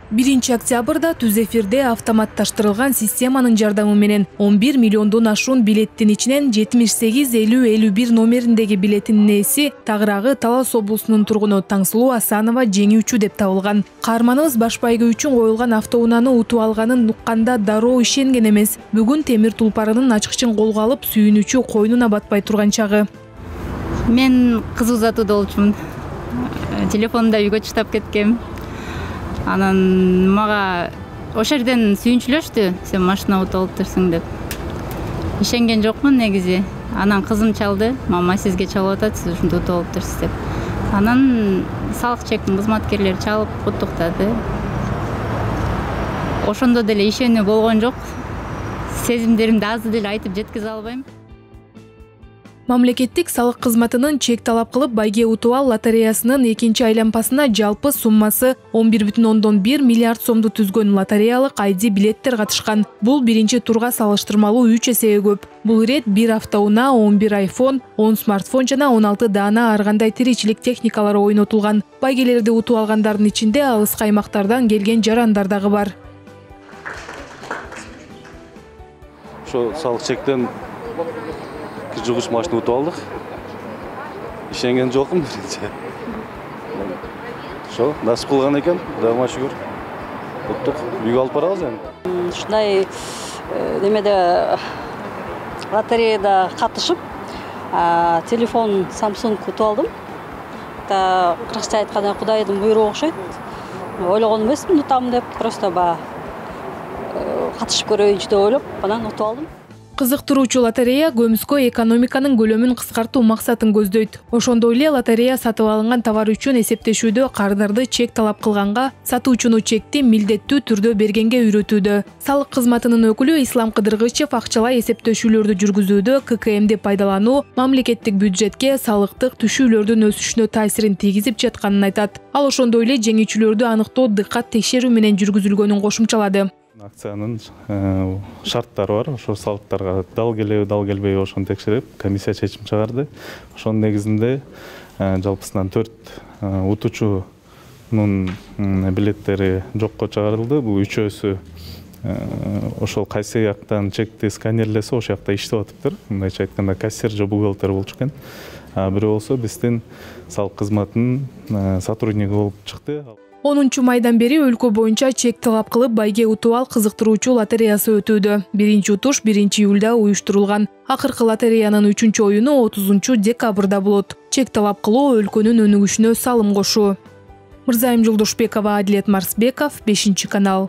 1 октябрда түз эфирде автоматташтырылган системанын жардамы менен 11 миллиондон ашуун билеттин ичинен 78-50-51 номериндеги билеттин ээси Тагыраагы Талас облусунун тургуну Таңсулуу Асанова жеңүүчү деп табылган. Каарманыбыз баш байгы үчүн коюлган автоунааны утуп алганын укканда дароо ишенген эмес. Бүгүн темир тулпарынын ачкычын колго алып, сүйүнүүчү койнуна батпай турган чагы. Мен кыз узатууда болчумун. Телефонумда үйгө таштап кеткем. Анан мага ошол жерден сүйүнчүлөштү, сен машина утуп алыптырсың деп. Ишенген жокмун негизи. Анан кызым чалды, мама сизге чалып атат, сиз ушинтип утуп алыптырсыз деп. Анан салык чектин кызматкерлери чалып куттуктады. Ошондо деле ишенүү болгон жок. Сезимдеримди азыр деле айтып жеткизе албайм. Мамлекеттик салык кызматынын чек талап кылып байге утуп ал лотереясынын экинчи айланпасына жалпы суммасы 11,1 миллиард сомду түзгөн лотереялык ID билеттер катышкан. Бул биринчи турга салыштырмалуу 3 эсеге көп. Бул ирет 1 автоунаа, 11 iPhone, 10 смартфон жана 16 даана ар кандай тиричилик техникалары ойнотулган. Байгелерди утуп алгандардын ичинде алыскы аймактардан келген жарандар дагы бар. Ошо салык чектен жугуш машина утуп алдык. Ишенген жокмун биринчи. Ошо насип кылган экен, Кудайга шүгүр. Уттук, үйгө алып барабыз эми. Ушундай немеде лотереяда катышып, телефон Samsung утуп алдым. Кыргызча айтканда Кудайдын буйругу окшойт. Ойлогон эмесмин утамын деп, просто катышып көрөйүнчү деп ойлоп, анан утуп алдым. Кызыктыруучу лотерея көмүскө экономиканын көлөмүн кыскартуу максатын көздөйт. Ошондой эле лотерея сатып алынган товар үчүн эсептешүүдө кардарды чек талап кылганга сатуучуну чекти милдеттүү түрдө бергенге үйрөтүүдө. Салык кызматынын өкүлү Ислам Кыдыргычев акчалай эсептешүүлөрдү жүргүзүүдө ККМди пайдалануу мамлекеттик бюджетке салыктык түшүүлөрдүн өсүшүнө таасирин тийгизип жатканын айтат. Ал ошондой эле жеңүүчүлөрдү аныктоо дыккат текшерүү менен жүргүзүлгөнүн кошумчалады. Акциянын шарттары бар. Ошо салыктарга дал келеби, дал келбейби ошону текшерип, комиссия чечим чыгарды. Ошонун негизинде жалпысынан 4 утуучунун билеттери жокко чыгарылды. Бул үчөөсү ошол кайсы жактан чекти сканерлесе, ошол жакта иштеп атыптыр. Мындайча айтканда кассир же бухгалтер болчу экен. Бирөө болсо биздин салык кызматынын сотрудниги болуп чыкты. 10 майдан бери өлкө боюнча чек талап кылып байге утуп ал кызыктыруучу лотереясы өтүүдө. Биринчи утуш 1 июлда уюштурулган. Акыркы лотереянын 3 оюну 30 декабрда болот. Чек талап кылуу өлкөнүн өнүгүшүнө салым кошуу. Мырзайым Жолдошбекова, Адилет Марсбеков, 5 канал.